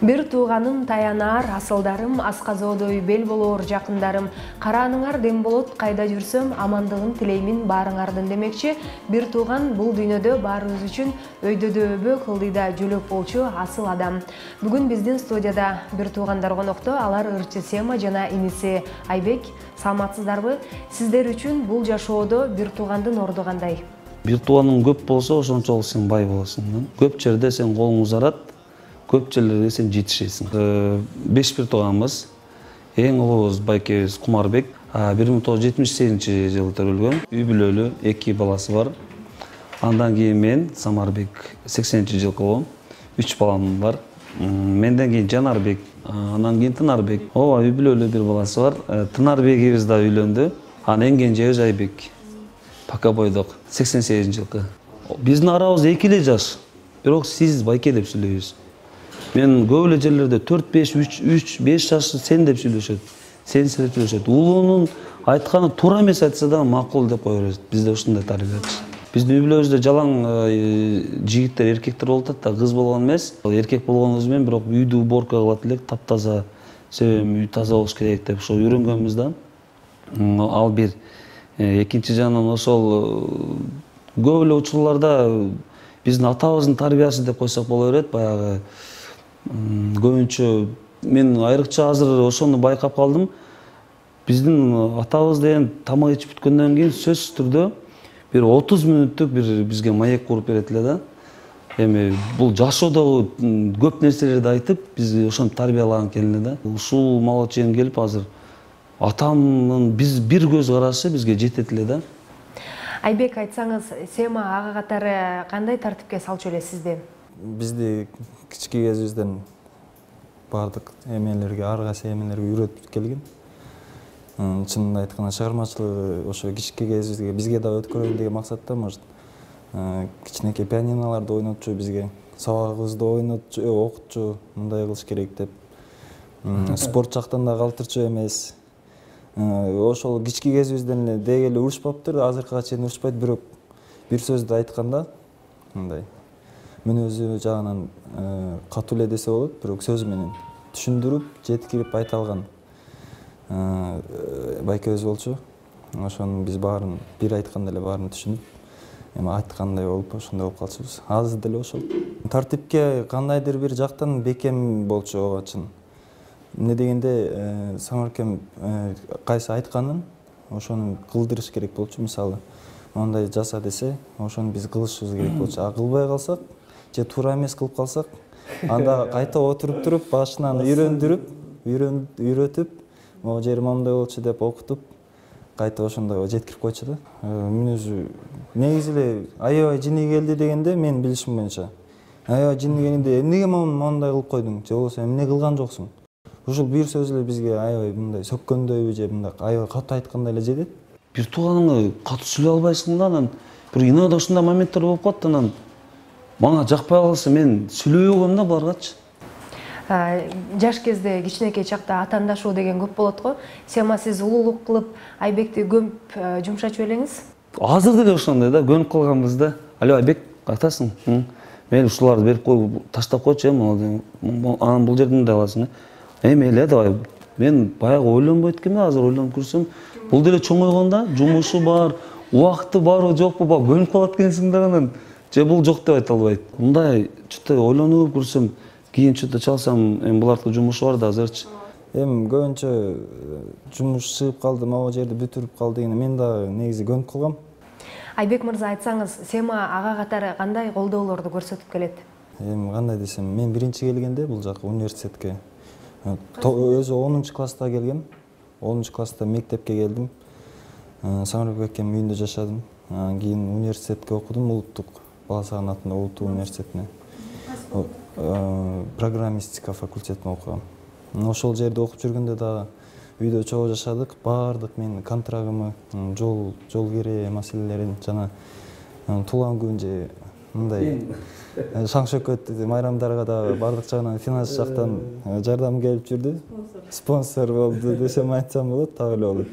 Бир тууганым таянаар, асылдарым, асказоодой бел болоор жакындарым, карааныңар дем болот, кайда жүрсөм, амандыгын тилеймин баарыңардын демекчи, бир тууган бул дүйнөдө баарыбыз үчүн өйдөдө өбө, кылдыйда жөлөк болчу асыл адам. Бүгүн биздин студияда бир туугандар конокто, алар ырчы Сема жана иниси Айбек. Саламатсыздарбы? Сиздер үчүн бул жашоодо бир туугандын орду кандай? Бир тууганың көп болсо, ошончолук сен бай болосуң. Көп жерде сен колуң узарат, көп жерлерге сен жетишесиң. 5 бир тууганбыз. Эң улуубуз байкебиз Кумарбек. 1978-жылы төрөлгөн. Үй бүлөлүү, 2 баласы бар. Андан кийин мен Самарбек 80-жылы болгом. 3 балам бар. Менден кийин Жанарбек, андан кийин Тынарбек. Ооба, үй бүлөлүү 1 баласы бар. Тынарбегибиз да үйлөндү. Анан эң кенжебиз Айбек. Пока бойдок 88-жылкы. Биздин арабыз 2 эле жаш. Бирок сиз байке деп сүйлөйбүз. Мен көп эле жерлерде 4-5 жаш сен деп сүйлөшөт. Сен деп сүйлөшөт. Улуунун айтканы туура эмес айтса да макул деп кое берет. Бизде ушундай тарбият. Биздин үй бүлөбүздө жалаң жигиттер, эркектер болуп атат да, кыз болгон эмес. Эркек болгонубуз менен бирок үйдү уборка кылат элек, таптаза, себеби үй таза болуш керек деп ошо үйрөнгөнбүз да. Ал бир. Экинчи жагынан ошол көп эле учурларда биздин атабыздын тарбиясы деп койсок боло берет. Баягы көбүнчө мен айрыкча азыр ошону байкап калдым. Биздин атабыз деген тамак ичип бүткөндөн кийин сөзсүз түрдө бир 30 мүнөттүк бир бизге маек куруп берет эле да. Эми бул жашоодогу көп нерселерди айтып, бизди ошентип тарбиялаган экен эле да. Ушул мага чейин келип азыр атамдын биз бир көз карашы бизге жетет эле да. Айбек, айтсаңыз, Сема ага катары кандай тартипке салчу эле сизди? Бизди кички кезибизден бардык эмелерге, ар кайсы эмелерге үйрөтүп келген. Чынын айтканда чыгармачылыгы ошо кички кезибизге бизге да өткөрөйүн деген максатта, может, кичинекей пианиналарды ойнотчу бизге, сабагыбызды ойнотчу, окутчу, мындай кылыш керек деп. Спорт жактан да калтырчу эмес. Ошол кички кезибизден эле деги эле урушпаптыр, азыркыга чейин урушпайт, бирок бир сөздү айтканда мындай мүнөзү жагынан катуу эле десе болот, бирок сөзү менен түшүндүрүп, жеткирип айта алган байкебиз болчу. Ошонун биз баарын бир айтканда эле баарын түшүнүп, эми айткандай болуп ошондой болуп калчубуз. Азыр деле ошол. Тартипке кандайдыр бир жактан бекем болчу ого чын. Эмне дегенде Самаркем кайсы айтканын ошону кылдырыш керек болчу. Мисалы, мондай жаса десе, ошону биз кылышыбыз керек болчу. А кылбай калсак, же туура эмес кылып калсак, анда кайта отуруп туруп, башынан үйрөтүп, могу жери моундай болчу деп окутуп, кайта ошондой жеткирип койчу да. Мүнөзү негизи эле аябай жини келди дегенде, мен билишим боюнча, аябай жини келгенде эмнеге моундай кылып койдуң, же болбосо эмне кылган жоксуң? Ушул бир сөз эле бизге аябай мындай сөккөндөйбү же мындай аябай катуу айткандай эле жетет. Бир тууганыңы катуу сүйлөй албайсың да, анан бир иногда ушундай моменттер болуп калат, анан мага жакпай калса мен сүйлөбөй койгом да буларгачы. Жаш кезде кичинекей чакта атаандашуу деген көп болот го. Сема, сиз улуулук кылып Айбекти көп жумшачу элеңиз? Азыр деле ошондой да, көнүп калганбыз да. Алло, Айбек, кайтасың? Мен ушуларды берип коюп, таштап койчу, анан бул жерден мындай аласың. Эми эле давай. Мен баягы ойлонбойт экенмин, азыр ойлонуп көрсөм, бул деле чоңойгон да, жумушу бар, убакыты барбы жокпу, көнүп калат экенсиң да, анан же бул жок деп айта албайт. Мындай чөтө ойлонуп көрсөм, кийин чөтө чалсам, эми булардын жумушу бар да азырчы. Эми көбүнчө жумуш чыгып калды, могу жерди бүтүрүп калды дегенде мен да негизи көнүп калгам. Айбек мырза, айтсаңыз, Сема ага катары кандай колдоолорду көрсөтүп келет? Эми кандай десем, мен биринчи келгенде бул жака университетке өзү 10-класста келгем. 10-класста мектепке келдим. Самарбек акем үйүндө жашадым. Анан кийин университетке окудум, улуттук Бала Саган атындагы улуттук университетине. Программистика факультетине окугам. Ошол жерде окуп жүргөндө да үйдө чогуу жашадык. Баардык менин контрагымы, жол кире маселелерин жана туулган күн же мындай шаң шөкөт майрамдарга да баардык жагынан финанс жактан жардам келип жүрдү. Спонсор болду десем айтсам болот, так эле болот.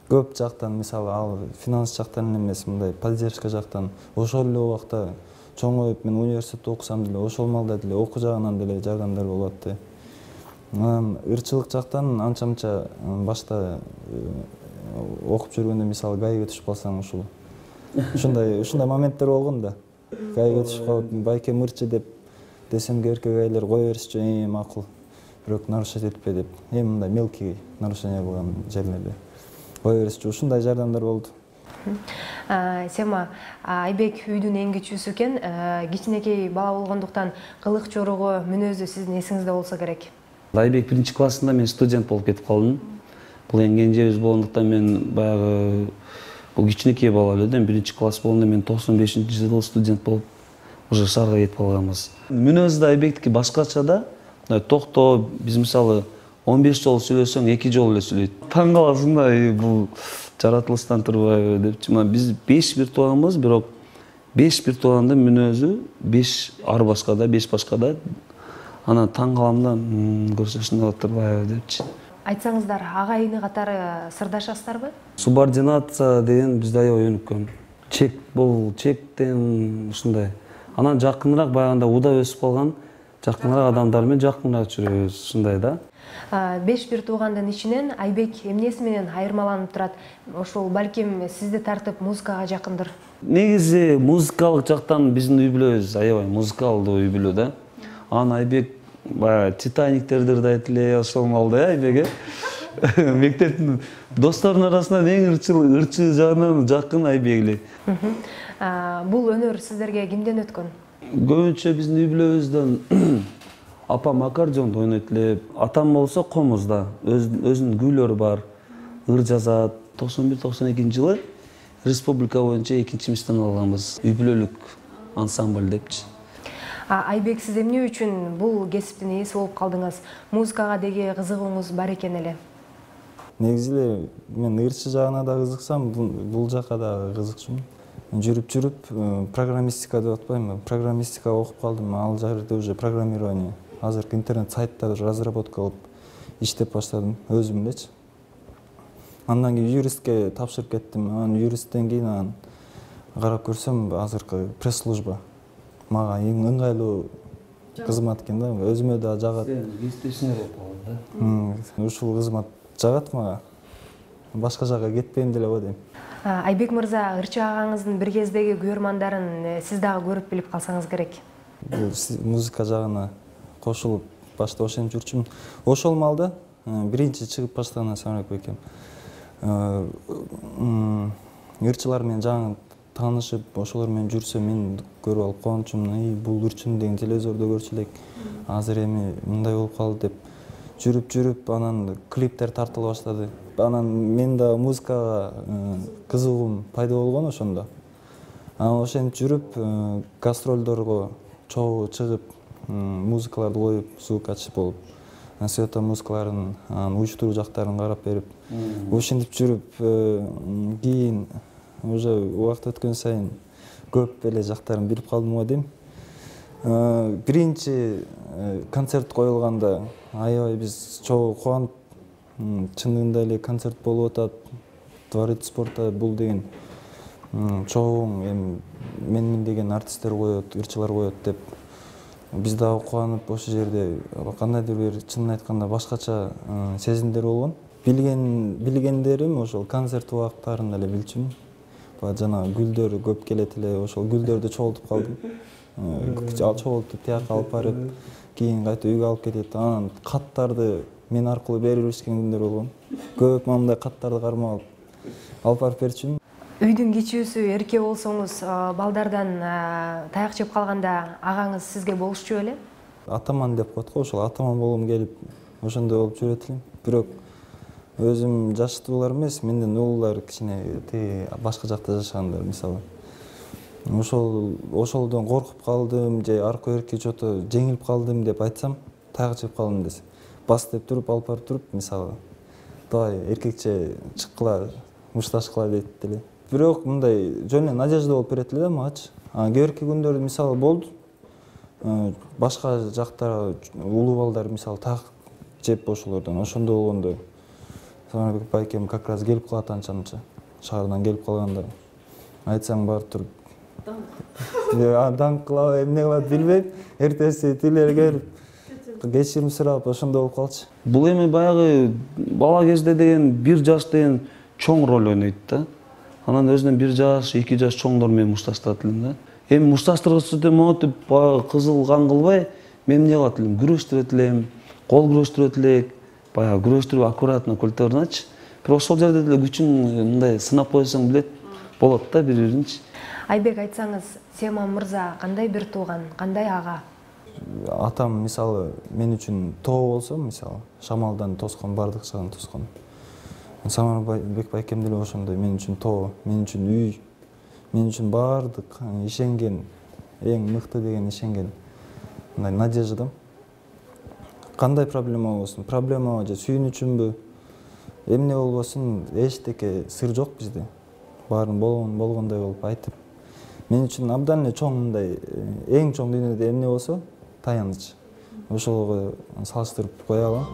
Көп жактан, мисалы, ал финанс жактан эмес, мындай поддержка жактан ошол эле убакта чоңоюп мен университетте окусам деле ошол маалда деле окуу жагынан деле жардамдар болуп атты. Анан ырчылык жактан анча мынча башта окуп жүргөндө мисалы гаиге түшүп калсаң ушул ушундай моменттер болгон да. Гаиге түшүп калып байкем ырчы десем эркек айлар кое беришчү макул. Бирок нарушать этпе деп. Мындай мелкий нарушение болгон жерлерде кое беришчү ушундай жардамдар болду. Сема Айбек үйдүн эң кичүүсү экен. Кичинекей бала болгондуктан кылык чорого мүнөзү сиздин эсиңизде болсо керек. Айбек 1-классында мен студент болуп кетип калдым. Бул эң кенжебиз болгондуктан мен баягы бул кичинекей бала эле да. 1-класс болгондо мен 95-жылы студент болуп уже шаарга кетип калганбыз. Мүнөзү да Айбектики башкача да. Токтоо биз мисалы 15 жолу сүйлөсөң 2 жолу эле сүйлөйт. Таң каласың да, бул жаратылыштан турбайбы депчи. Биз 5 бир тууганбыз, бирок 5 бир туугандын мүнөзү 5 ар башкада, 5 башкада. Анан таң калам да, көрсө ушундай болуп турбайбы депчи. Айтсаңыздар, агайыны катары сырдашасыздарбы? Субординация деген бизде аябай өнүккөн. Чек бул чектен ушундай. Анан жакыныраак баягында уда өсүп калган, жакыныраак адамдар менен жакыныраак жүрөбүз, ушундай да. 5 бир туугандын ичинен Айбек эмнеси менен айырмаланып турат? Ошол балким сизди тартып музыкага жакындыр. Негизи музыкалык жактан биздин үй бүлөбүз аябай музыкалдуу үй бүлө да. Анан Айбек баягы Титаниктерди ырдайт эле ошол маалда Айбек. Мектептин досторунун арасынан эң ырчы жагынан жакын Айбек эле. Бул өнөр сиздерге кимден өткөн? Көбүнчө биздин үй бүлөбүздөн апам аккордеонду ойнойт эле. Атам болсо комузда, өзүнүн күүлөрү бар, ыр жазат. 91-92-жылы республика боюнча 2-мистен алганбыз. Үй бүлөлүк ансамбль депчи. Айбек, сиз эмне үчүн бул кесиптин ээси болуп калдыңыз? Музыкага деги кызыгууңуз бар экен эле. Негизи эле мен ырчы жагына да кызыксам, бул жакка да кызыкчумун. Жүрүп программистика деп атпаймынбы? Программистика окуп калдым. Ал жерде уже программирование. Азыркы интернет сайттарды разработка кылып иштеп баштадым өзүм элечи. Андан кийин юристке тапшырып кеттим. Анан юристтен кийин карап көрсөм, азыркы пресс-служба мага эң ыңгайлуу кызмат экен да. Өзүмө да жагат. Ушул кызмат жагат мага. Башка жакка кетпейм деле го дейм. Айбек мырза, ырчы агаңыздын бир кездеги көрмандарын сиз дагы көрүп билип калсаңыз керек. Бул музыка жагына кошулуп башта ошентип жүрчүмүн. Ошол маалда биринчи чыгып баштаган Самарбек байкем ырчылар менен жаңы таанышып, ошолор менен жүрсө мен көрүп алып кубанычумун. Бул ырчыны деген телевизордо көрчү элек. Азыр эми мындай болуп калды деп жүрүп анан клиптер тартыла баштады. Анан мен да музыкага кызыгуум пайда болгон ошондо. Анан ошентип жүрүп гастролдорго чогуу чыгып, музыкаларды коюп, звукач болуп, света музыкаларын, уюштуруу жактарын карап берип, ошентип жүрүп, кийин уже убакыт өткөн сайын көп эле жактарын билип калдым го дейм. Биринчи концерт коюлганда аябай биз чогуу кубанып, чынында эле концерт болуп атат. Дворец спорта бул деген чогуу эми мен деген артисттер коет, ырчылар коет деп биз дагы кубанып ошол жерде кандайдыр бир чынын айтканда башкача сезимдер болгон. Билгендерим ошол концерт убактарында эле билчүмүн. Жана гүлдөр көп келет эле, ошол гүлдөрдү чогултуп калдым. Чогултуп тияка алып барып, кийин кайта үйгө алып кетет. Анан каттарды мен аркылуу берип беришкен күндөр болгон. Көп мындай каттарды кармап алып барып берчүмүн. Үйдүн кичүүсү эрке болсоңуз, балдардан таяк жеп калганда агаңыз сизге болушчу беле? Атаман деп коет го, ошол атаман болгум келип, ошондой болуп жүрөт элем. Бирок өзүм жаштуулар эмес, менден улуулар кичине башка жакта жашагандар, мисалы. Ошолдон коркуп калдым же аркы эрке чото жеңилип калдым деп айтсам, таяк жеп калдым десе, бас деп туруп, алып барып туруп, мисалы, давай эркекче чыккыла, мушташкыла дейт эле. Бирок мындай жөн эле надежда болуп берет эле да магачы. Кийинки күндөрдө мисалы болду. Башка жакта улуу балдар мисалы таяк жеп ошолордон, ошондо болгондо Самарбек байкем как раз келип калат анча-мынча. Шаардан келип калганда айтсаң барып туруп Даңк кылабы, эмне кылат билбейм. Эртеси тилери келип кечирим сурап ошондой болуп калчу. Бул эми баягы бала кезде деген 1 жаш деген чоң роль ойнойт да. Анан өзүнөн 1 жаш, 2 жаш чоңдор менен мушташтырат элем да. Эми мушташтыргычты монтип кызыл кан кылбай, мен эмне кылат элем? Күрөштүрөт элем, кол күрөштүрөт элек, баягы күрөштүрүп аккуратно культурначы. Бирок ошол жерде деле күчүн мындай сынап койсоң билет болот да бири-биринчи. Айбек, айтсаңыз, Семан мырза кандай бир тууган, кандай ага? Атам мисалы мен үчүн тоо болсо, мисалы шамалдан тоскон, бардык жагын тоскон. Самарбек байкем деле ошондой мен үчүн тоо, мен үчүн үй, мен үчүн бардык ишенген, эң мыкты деген ишенген мындай надеждам. Кандай проблема болбосун, проблема же сүйүнүчүмбү, эмне болбосун, эчтеке сыр жок бизде. Баарын болгондой болуп айтып. Мен үчүн абдан эле чоң мындай эң чоң дүйнөдө эмне болсо, таяныч. Ошого салыштырып кое алам.